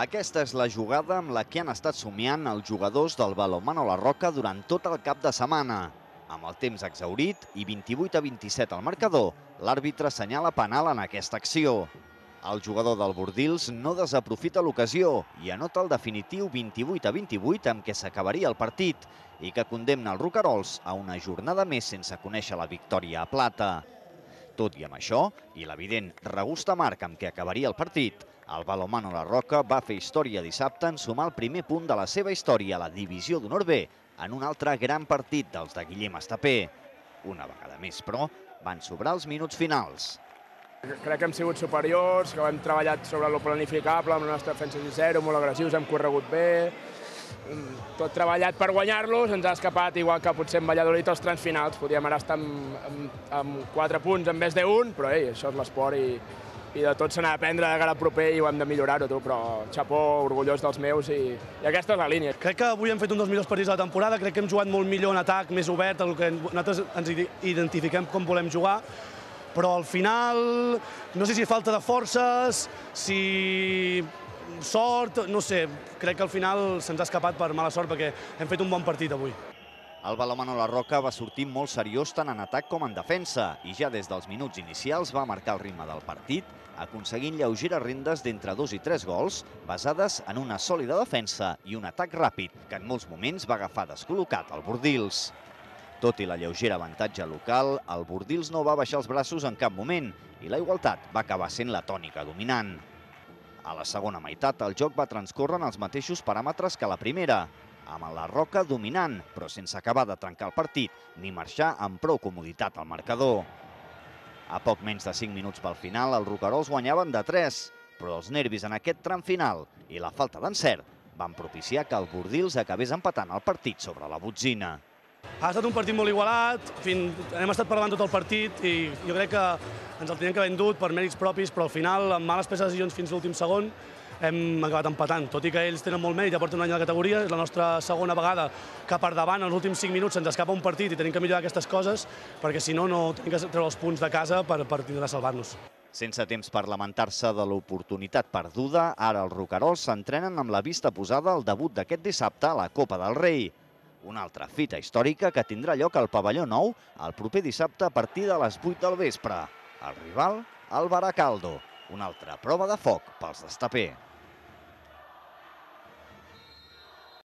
Aquesta és la jugada amb la que han estat somiant els jugadors del Balonmano La Roca durant tot el cap de setmana. Amb el temps exhaurit i 28-27 al marcador, l'àrbitre assenyala penal en aquesta acció. El jugador del Bordils no desaprofita l'ocasió i anota el definitiu 28-28 amb què s'acabaria el partit i que condemna els roquerols a una jornada més sense conèixer la victòria a plata. Tot i amb això, i l'evident regust amarg amb què acabaria el partit, el Balonmano La Roca va fer història dissabte en sumar el primer punt de la seva història a la Divisió d'Honor B en un altre gran partit dels de Guillem Estapé. Una vegada més, però, van sobrar els minuts finals. Crec que hem sigut superiors, que hem treballat sobre lo planificable, amb la nostra defensa de 0, molt agressius, hem corregut bé. Tot treballat per guanyar-los, ens ha escapat, igual que potser en Valladolid, els trams finals. Podríem ara estar amb 4 punts en vez d'1, però això és l'esport i de tot se n'ha d'aprendre de cara al proper i ho hem de millorar-ho, però xapó, orgullós dels meus i aquesta és la línia. Crec que avui hem fet un dels millors partits de la temporada, crec que hem jugat molt millor en atac, més obert, el que nosaltres ens identifiquem com volem jugar, però al final no sé si falta de forces, si sort, no sé, crec que al final se'ns ha escapat per mala sort perquè hem fet un bon partit avui. El Balonmano La Roca va sortir molt seriós tant en atac com en defensa i ja des dels minuts inicials va marcar el ritme del partit, aconseguint lleugeres rendes d'entre 2 i 3 gols basades en una sòlida defensa i un atac ràpid que en molts moments va agafar descol·locat el Bordils. Tot i la lleugera avantatge local, el Bordils no va baixar els braços en cap moment i la igualtat va acabar sent la tònica dominant. A la segona meitat el joc va transcórrer en els mateixos paràmetres que la primera, amb la Roca dominant, però sense acabar de trencar el partit ni marxar amb prou comoditat al marcador. A poc menys de 5 minuts pel final, els roquerols guanyaven de 3, però els nervis en aquest tram final i la falta d'encert van propiciar que el Bordils acabés empatant el partit sobre la botzina. Ha estat un partit molt igualat, hem estat parlant tot el partit i jo crec que ens el teníem que haver endut per mèrits propis, però al final, amb males preses de decisions fins l'últim segon, hem acabat empatant. Tot i que ells tenen molt mèrit, ja porten un any a la categoria, és la nostra segona vegada que per davant, els últims 5 minuts, se'ns escapa un partit i tenim que millorar aquestes coses, perquè si no, no tenim que treure els punts de casa per tindre de salvar-nos. Sense temps per lamentar-se de l'oportunitat perduda, ara els roquerols s'entrenen amb la vista posada al debut d'aquest dissabte a la Copa del Rei. Una altra fita històrica que tindrà lloc al Pavelló Nou el proper dissabte a partir de les 8 del vespre. El rival, el Baracaldo. Una altra prova de foc pels d'Estapé.